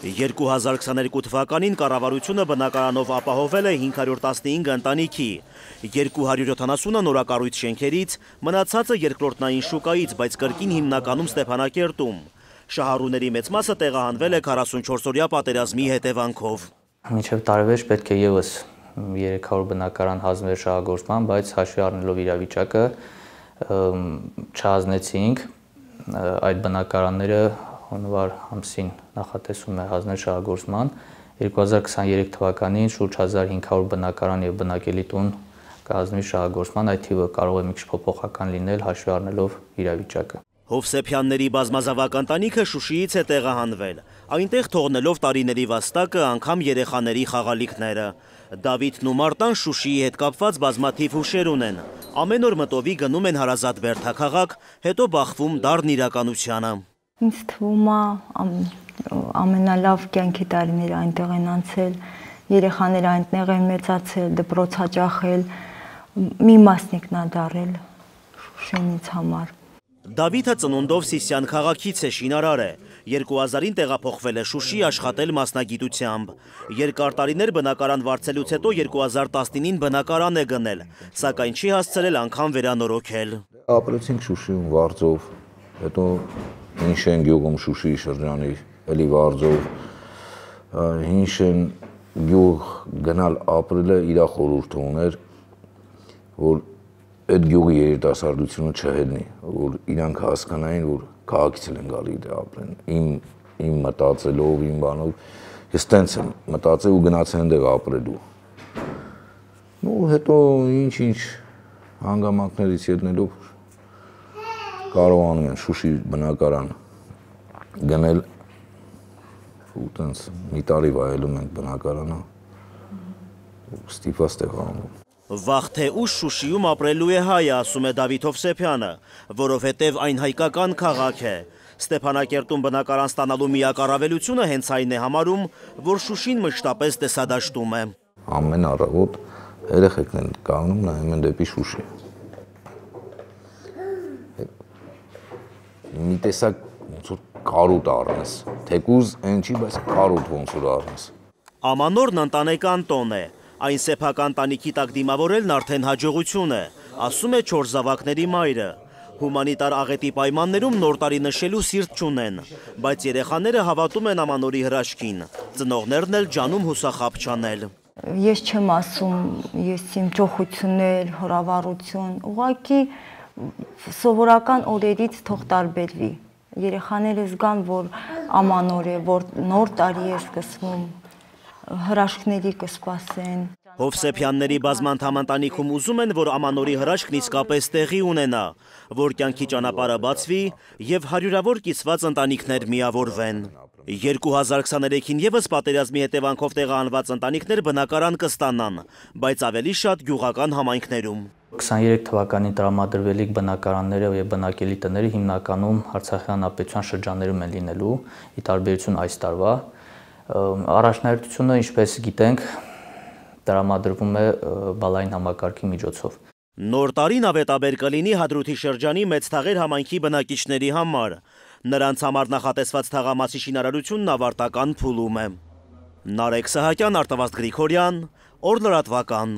2022 թվականին կառավարությունը բնակարանով ապահովել է 515 ընտանիքի, 270-ը նորակառույց շենքերից, մնացածը երկրորդնային շուկայից, բայց կրկին հիմնականում Ստեփանակերտում։ Շահառուների մեծ մասը տեղահանվել է 44-օրյա պատերազմի հետևանքով։ Մինչև տարեվերջ պետք է ևս 300 բնակարան հանձնվեր շահագործման, բայց հաշվի առնելով իրավիճակը չհանձնեցինք այդ բնակարանները հունվար ամսին նախատեսում է հանձնել շահագործման, 2023 թվականին շուրջ 1500 բնակարան եւ բնակելի տուն կհանձնվի շահագործման, այդ թիվը կարող է մի քիչ փոփոխական լինել հաշվի առնելով իրավիճակը։ Հովսեփյանների բազմազավակ ընտանիքը Շուշիից է տեղահանվել, այնտեղ թողնելով տարիների վաստակը, անգամ երեխաների խաղալիքները։ Դավիթն ու Մարտան Շուշիի հետ կապված բազմաթիվ հուշեր ունեն։ Ամեն օր մտովի գնում են հարազատ Բերդաքաղաք, հետո բախվում դառն իրականությանը։ Ինձ թվում է ամենալավ կյանքի տարիները այնտեղ են անցել, երեխաները այնտեղ են մեծացել, դպրոց հաճախել, մի մասնիկն է դառել Շուշինից համար։ Դավիթը ծնունդով Սիսիան քաղաքից է, շինարար է, 2000-ին տեղափոխվել է Շուշի աշխատել մասնագիտությամբ։ Երկար տարիներ բնակարան վարձելուց հետո 2019-ին բնակարան է գնել, սակայն չի հասցրել անգամ վերանորոգել։ Ապրեցինք Շուշիում վարձով, հետո Հինշեն գյուղում Շուշիի շրջանի, էլի վարձով, Հինշեն գյուղ գնալ ապրելը իր խորհուրդը ուներ, որ այդ գյուղի երիտասարդությունը չհելնի, որ իրանք հասկանային, որ քաղաքից են գալի դե ապրեն, իմ մտածելով, իմ բանով, ես տենց եմ մտածել ու գնացել այնտեղ ապրելու։ Ու հետո ինչ հանգամանքներից ելնելով կարողանում են Շուշի բնակարան գնել ու տենց մի տարի վայելում ենք բնակարանը ու ստիպված տեղանում։ Վաղ թե ուշ Շուշիում ապրելու է հայը, ասում է Դավիթ Հովսեփյանը, որովհետև այն հայկական քաղաք է։ Ստեփանակերտում բնակարան ստանալու միակ առավելությունը հենց այն է համարում, որ Շուշին մշտապես տեսադաշտում է։ Ամեն առավոտ երեխեքն են կանգնում, նայում են դեպի Շուշի։ Մի տեսակ ոնց որ կարոտ առնես, թեկուզ այն չի, բայց կարոտ ոնց որ առնես։ Ամանորն ընտանեկան տոն է, այն սեփական տանիքի տակ դիմավորելն արդեն հաջողություն է, ասում է 4 զավակների մայրը։ Հումանիտար աղետի պայմաններում նոր տարի նշելու սիրտ չունեն, բայց երեխաները հավատում են Ամանորի հրաշքին, ծնողներն էլ ջանում հուսախաբ չանել։ Ես չեմ ասում, ես իմ ճոխություններ, հրավառություն, ուղղակի սովորական օրերից թող տարբերվի։ Երեխաները զգան, որ Ամանոր է, որ նոր տարի է սկսվում, հրաշքների կսպասեն։ Հովսեփյանների բազմանդամ ընտանիքում ուզում են, որ Ամանորի հրաշքն իսկապես տեղի ունենա, որ կյանքի ճանապարհը բացվի եւ հարյուրավոր կիսված ընտանիքներ միավորվեն։ 2023-ին եւս պատերազմի հետևանքով տեղահանված ընտանիքներ բնակարան կստանան, բայց ավելի շատ գյուղական համայնքներում։ 23 թվականին տրամադրվելիք բնակարանները եւ բնակելի տները հիմնականում Արցախյան հանրապետության շրջաններում են լինելու, ի տարբերություն այս տարվա։ Առաջնահերթությունը, ինչպես գիտենք, տրամադրվում է բալային համակարգի միջոցով։ Նոր տարին ավետաբեր կլինի Հադրութի շրջանի Մեծ Թաղեր համայնքի բնակիչների համար։ Նրանց համար նախատեսված թաղամասի շինարարությունն ավարտական փուլում է։ Նարեկ Սահակյան, Արտավազդ Գրիգորյան, Օր լրատվական։